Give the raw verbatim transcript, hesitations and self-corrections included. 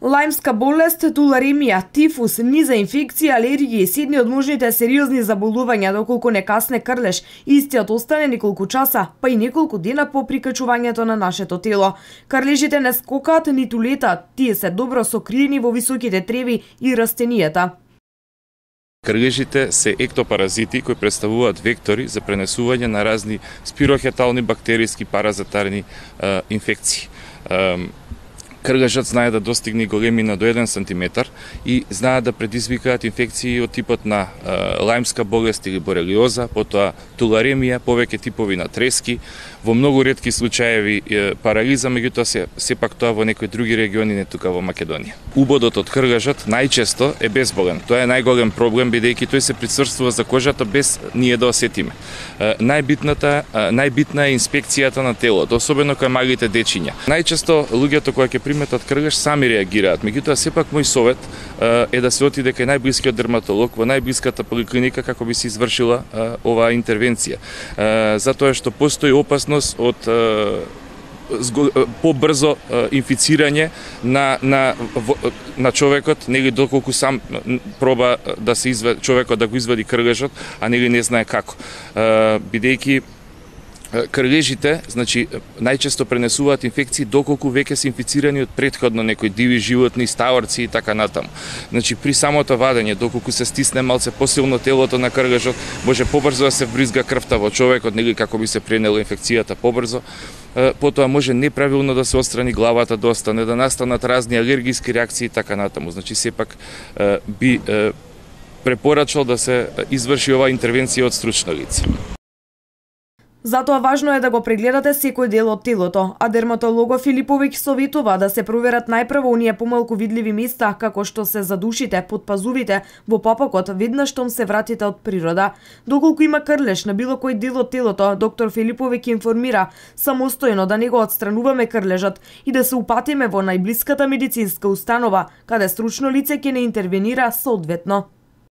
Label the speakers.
Speaker 1: Лајмска болест, туларемија, тифус, низа инфекција, алергија се едни од можните сериозни заболувања доколку не касне крлеш, истиот остане неколку часа, па и неколку дена по прикачувањето на нашето тело. Крлежите не скокаат ниту летаат, тие се добро сокриени во високите треви и растенијата.
Speaker 2: Крлежите се ектопаразити кои представуваат вектори за пренесување на разни спирохетални бактериски паразитарни е, инфекции. Е, Крлежот знае да достигне големина до еден сантиметар и знае да предизвикаат инфекции од типот на е, лајмска болест или борелиоза, потоа туларемија, повеќе типови на трески, во многу ретки случаеви е, парализа, меѓутоа се сепак тоа во некои други региони, не тука во Македонија. Убодот од крлежот најчесто е безболен. Тоа е најголем проблем бидејќи тој се присврствува за кожата без ние да осетиме. Е, најбитната е, најбитна е инспекцијата на телото, особено кај малите дечиња. Најчесто луѓето кои ќе приметат крлеж сами реагираат, меѓутоа сепак мој совет е, е да се отиде кај најблискиот дерматолог во најблиската поликлиника како би се извршила е, оваа интервенција. Е, затоа што постои опасност од побрзо инфицирање на на на човекот, нели доколку сам проба да се извади човекот да го извади крлежот, а нели не знае како. Бидејќи крлежите, значи, најчесто пренесуваат инфекции доколку веќе се инфицирани од претходно некои диви животни, стаорци и така натаму. Значи, при самото вадење, доколку се стисне малце посилно телото на крлежот, може побрзо да се вбризга крвта во човекот, нели како би се пренела инфекцијата побрзо. Потоа може неправилно да се отстрани главата, да остане, да настанат разни алергиски реакции и така натаму. Значи, сепак би препорачал да се изврши оваа интервенција од стручно лице.
Speaker 1: Затоа важно е да го прегледате секој дел од телото, а дерматологот Филиповиќ советува да се проверат најпрво оние помалку видливи места, како што се задушите, подпазувите, во папакот, веднаш штом се вратите од природа. Доколку има крлеж на било кој дел од телото, доктор Филиповиќ информира самостојно да не го отстрануваме крлежот и да се упатиме во најблиската медицинска установа, каде стручно лице ќе не интервенира соодветно.